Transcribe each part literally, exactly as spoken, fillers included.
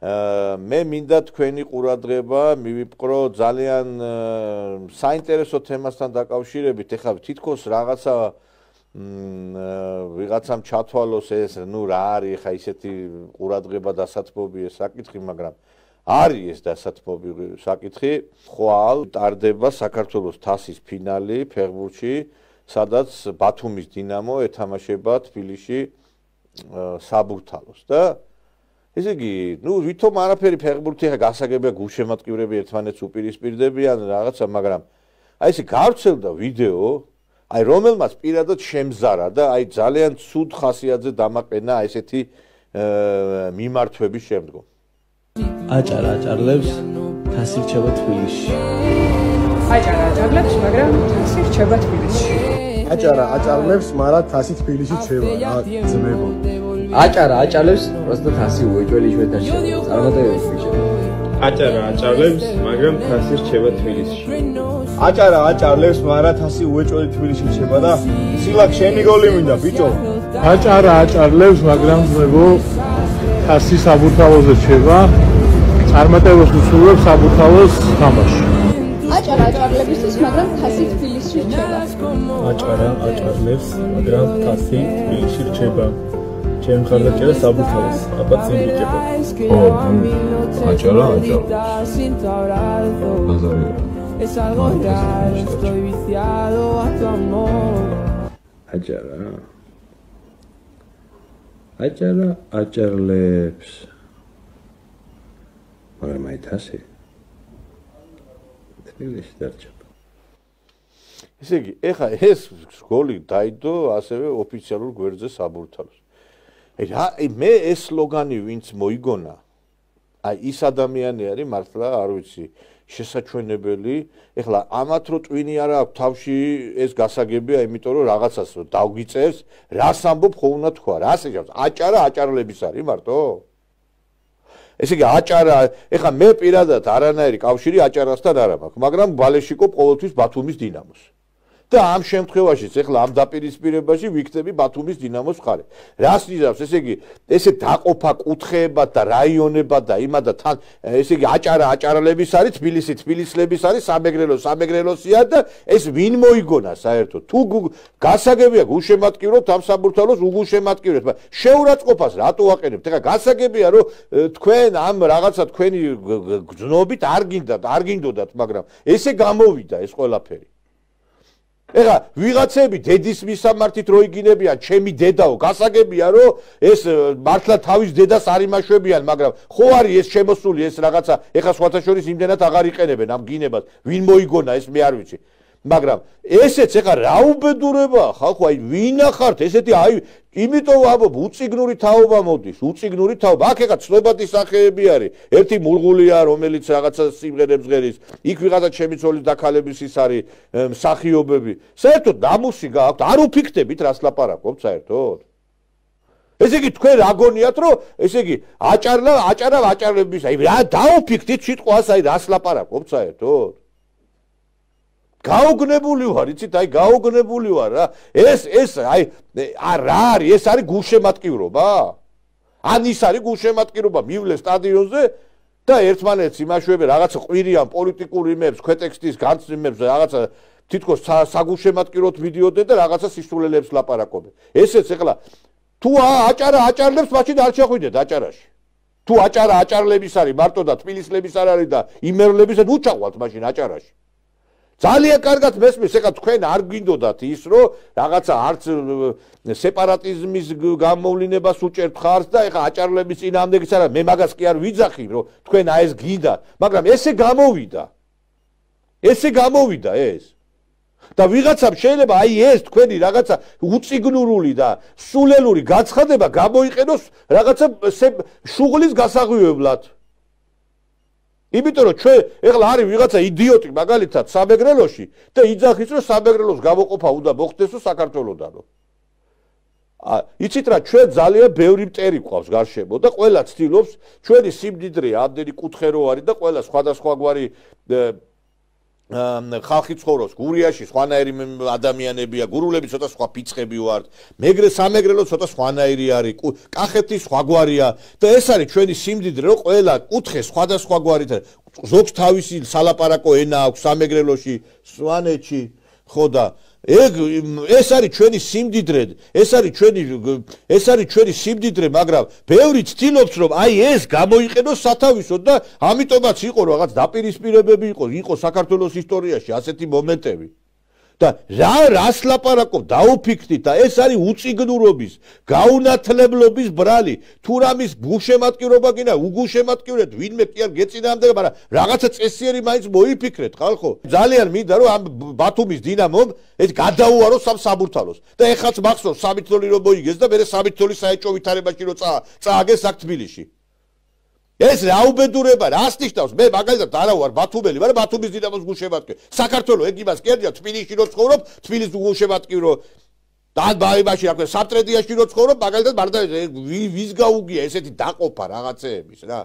მე მინდა თქვენი ყურადღება მივიპყრო ძალიან საინტერესო თემასთან დაკავშირებით. ეხლა თითქოს რაღაცა ვიღაცამ ჩათვალოს ეს, ნუ რა არის ეხლა ისეთი ყურადღება დასათმობი ეს საკითხი, მაგრამ არის ეს დასათმობი საკითხი. ხვალ ტარდება საქართველოს თასის ფინალი ფეხბურთში, სადაც ბათუმის დინამო ეთამაშება თბილისში საბურთალოს და ესე იგი, ნუ ვითომ არაფერი ფეხბურთი ახლა გასაგებია გულშემატკივრები ერთმანეთს უპირისპირდებიან რაღაცა, მაგრამ აი ესე გავრცელდა ვიდეო, აი რომელმაც პირადად შემზარა და აი ძალიან ცუდ ხასიათზე დამაყენა ესეთი მიმართვების შემდგომ. აჭარა აჭარლებს თასი რჩება თბილისში. აჭარა აჭარლებს, მაგრამ თასი რჩება თბილისში. აჭარა აჭარლებს, მაგრამ თასი თბილისში რჩება, რა ძმებო. აჭარა აჭარლებს, просто თასი უეჭველი ჩვენთან შევა. წარმატებები ბიჭებო. აჭარა აჭარლებს, მაგრამ თასი რჩება თბილისში. აჭარა აჭარლებს, მაგრამ თასი უეჭველი თბილისში რჩება და სილაკ შენი გოლი მინდა ბიჭო. აჭარა აჭარლებს, მაგრამ ძმებო თასი საბურთალოზე რჩება. წარმატებას ვუსურვებ საბურთალოს თამაში. აჭარა აჭარლებისთვის, მაგრამ თასი თბილისში რჩება. აჭარა აჭარლებს, მაგრამ თასი თბილისში რჩება. ჩემ მხარდაჭერა საბურთალოს, აბა წინ ვიჭებო. ო, აჭარა აჭარლებს. ბაზარია. აჭარა აჭარა აჭარლებს. მაგრამ აი თასი თბილისში დარჩება. ესე იგი, ეხა ეს გოლი დაიდო ასევე ოფიციალურ გვერდზე საბურთალოს. აი რა, მე ეს სლოგანი ვინც მოიგონა, აი ის ადამიანი არის მართლა არ ვიცი, შესაჩვენებელი. ეხლა ამათ რო ტვინი არა აქვს თავში ეს გასაგებია, იმიტომ რომ რაღაცას რო დავგიწევს, რას ამბობ ხო უნდა თქვა, რას ეჭავს? აჭარა აჭარლების არის მარტო? ესე იგი აჭარა, ეხლა მე პირადად არანაირი კავშირი აჭარასთან არ მაქვს, მაგრამ ბალეშიკო ყოველთვის ბათუმის დინამოს. და ამ შემთხვევაშიც ეხლა ამ დაპირისპირებაში ვიქნები ბათუმის დინამოს მხარე. რას ნიშნავს, ესე იგი, ესე დაყოფა კუთხეებად და რაიონებად და იმად და თან, ესე იგი, აჭარა აჭარლების არის, თბილისი თბილისლების არის, სამეგრელო სამეგრელოსია და ეს ვინ მოიგონა საერთოდ? თუ გასაგებია გულშემატკივროთ ამ საბურთალოს უგულშემატკივრეთ, მაგრამ შეურაცხყოფას რატო ვაყენებთ? ეხლა გასაგებია რომ თქვენ ამ რაღაცა თქვენი გზნობით არ გინდათ, არ გინდოდათ, მაგრამ ესე გამოვიდა ეს ყველაფერი. ეხლა ვიღაცები დედის მისამართით რო იგინებიან, ჩემი დედაო, გასაგებია რომ ეს მართლა თავის დედას არ იმაშვებიან, მაგრამ ხო არის ეს შემოსული ეს რაღაცა, ეხლა სხვათა შორის იმდენად აღარ იყენებენ ამ გინებას, ვინ მოიგონა ეს მე არ ვიცი. მაგრამ ესეც ეხლა რა უბედურებაა ხალხო, აი ვინ ახართ ესეთი, აი იმიტომ ვამბობ, უწიგნური თაობა მოდის, უწიგნური თაობა. აქ ეხლა ცნობადი სახეები არის. ერთი მულღულია, რომელიც რაღაცა სიმღერებს ღერის, იქ ვიღაცა ჩემი ცოლის დაქალების ის არის მსახიობები. საერთოდ ნამუსი გააქვთ, არ უფიქდებით რას ლაპარაკობთ საერთოდ. ესე იგი თქვენ რა გონიათ რომ ესე იგი აჭარლა, აჭარა აჭარლების, აი რა დაუფიქდით სიტყვას, აი რას ლაპარაკობთ საერთოდ. გაუგნებული ვარ, იცით, აი გაუგნებული ვარ რა. ეს ეს აი რა არის? ეს არის გულშემატკივრობა? ან ის არის გულშემატკივრობა, მივლე სტადიონზე და ერთმანეთს იმაშვებენ რაღაცა ყვირიან პოლიტიკურ იმებს, ქვეტექსტის განცდიმებს, რაღაცა თითქოს საგულშემატკივროთ ვიდეოდენ და რაღაცა სისულელებს ლაპარაკობენ. ესეც ეხლა თუ აჭარა აჭარლებს მაშინ არ შეხვიდეთ აჭარაში. თუ აჭარა აჭარლების არის მარტო და თბილისლების არ არის და იმერლების და უჩაყვალთ მაშინ აჭარაში. ძალიან კარგად მესმის, ეხლა თქვენ არ გვინდოდათ ის, რომ რაღაცა არც სეპარატიზმის გამოვლინებას უჭერთ ხარს და ეხლა აჭარლების წინააღმდეგიც არა, მე მაგას კი არ ვიძახი, რომ თქვენ აი ეს გინდა, მაგრამ ესე გამოვიდა. ესე გამოვიდა ეს. და ვიღაცამ შეიძლება აი ეს თქვენი რაღაცა უწიგნურული და სულელური გაცხადება გამოიყენოს რაღაცა შუღლის გასაღვივებლად. იმიტომ რომ ჩვენ ეხლა არის ვიღაცა იდიოტი მაგალითად სამეგრელოში და იძახის რომ სამეგრელოს გამოყოფა უნდა მოხდესო საქართველოსდანო. იცით რა, ჩვენ ძალიან ბევრი მტერი გვყავს გარშემო და ყველა ცდილობს ჩვენი სიმდიდრე ამდენი კუთხე რო არის და ყველა სხვადასხვაგვარი ხალხი ცხოვრობს გურიაში, სხვანაირი ადამიანებია, გურულები ცოტა სხვა ფიცხები ვართ, მეგრე სამეგრელო ცოტა სხვანაირი არის, კახეთი სხვაგვარია და ეს არის ჩვენი სიმდიდრე, რომ ყველა კუთხე სხვადასხვაგვარით არის. ზოგს თავისი სალაპარაკო ენა აქვს სამეგრელოში, სვანეთში, ხო და ეგ ეს არის ჩვენი სიმდიდრე, ეს არის ჩვენი ეს არის ჩვენი სიმდიდრე, მაგრამ ბევრი ცდილობს რომ აი ეს გამოიყენოს სათავისოდ და ამიტომაც იყო რაღაც დაპირისპირებები იყო, იყო საქართველოს ისტორიაში ასეთი მომენტები. და რა რას ლაპარაკობ დაუფიქრდით და ეს არის უწიგნურობის, გაუნათლებლობის ბრალი. თუ რამის გუშემატკივრობა გინდა, უგუშემატკივრეთ, ვინმე კი არ გეწინააღმდეგება, მაგრამ რაღაცა წესიერი მაინც მოიფიქრეთ, ხალხო. ძალიან მინდა რომ ამ ბათუმის დინამომ ეს გადაუაროს ამ საბურთალოს. და ეხაც მახსოვს სამი თველი რომ მოიგეს და მერე სამი თველი საეჭვო ვითარებაში რომ წააგეს აქ თბილისში. ეს რა უბედურება, რას ნიშნავს? მე მაგალითად არა ვარ ბათუმელი, მაგრამ ბათუმის დინამოს გუშემატკივრი. საქართველოს ეგ იმას კერდია, თბილისში რო ცხოვრობ, თბილისის გუშემატკივრო და ბაიბაში რა ქვია, საფტრედიაში რო ცხოვრობ, მაგალითად მარდა ვის გაუგია ესეთი დაყოფა რაღაცეების რა.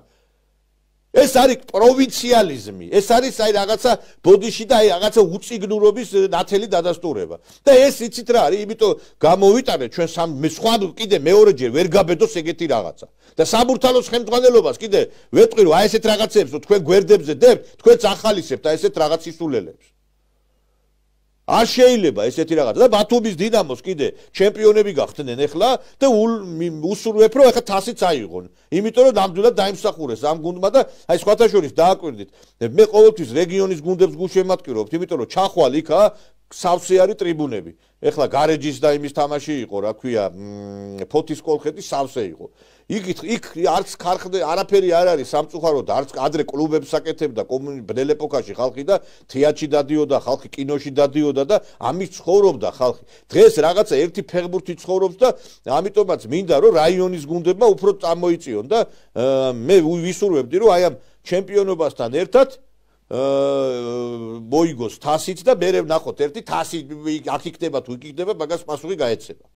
ეს არის პროვინციალიზმი, ეს არის აი რაღაცა ბოდიში და აი რაღაცა უწიგნურობის ნათელი დადასტურება. და ეს იცით რა არის, იმიტომ გამოვიტანეთ ჩვენ სამ სხვა კიდე მეორეჯერ ვერ გაბედოს ეგეთი რაღაცა. და საბურთალოს ხელმძღვანელობას კიდე ვეტყვი რომ აი ესეთ რაღაცებს რომ თქვენ გვერდებზე დებთ, თქვენც ახალისებთ აი ესეთ რაღაც ისულელებს. არ შეიძლება ესეთი რაღაცა და ბათუმის დინამოს კიდე ჩემპიონები გახდნენ ეხლა და უსურვებ რომ ეხლა თასიც აიღონ. იმიტომ რომ ნამდვილად დაიმსახურეს ამ გუნდმა და აი სხვათა შორის დააკვირდით. მე ყოველთვის რეგიონის გუნდებს გუშემატკივრობთ, იმიტომ რომ ჩახვალ იქა სავსე არის ტრიბუნები. ეხლა გარეჯის და იმის თამაში იყო, რა ქვია, ფოთის კოლხეთის სავსე იყო. იქ იქ არც ქარხნე არაფერი არ არის სამწუხაროდ, არც ადრე კლუბებს აკეთებდა ბნელ ეპოქაში ხალხი და თეატრში დადიოდა, ხალხი კინოში დადიოდა და ამის ცხოვრობდა ხალხი. დღეს რაღაცა ერთი ფეხბურთი ცხოვრობს და ამიტომაც მინდა რომ რაიონის გუნდებმა უფრო წამოიწიონ და მე ვისურვებდი რომ აი ამ ჩემპიონობასთან ერთად მოიგოს თასიც და მე ვნახოთ ერთი თასი აქ იქნება თუ იქ იქნება, მაგას პასუხი გაეცემა.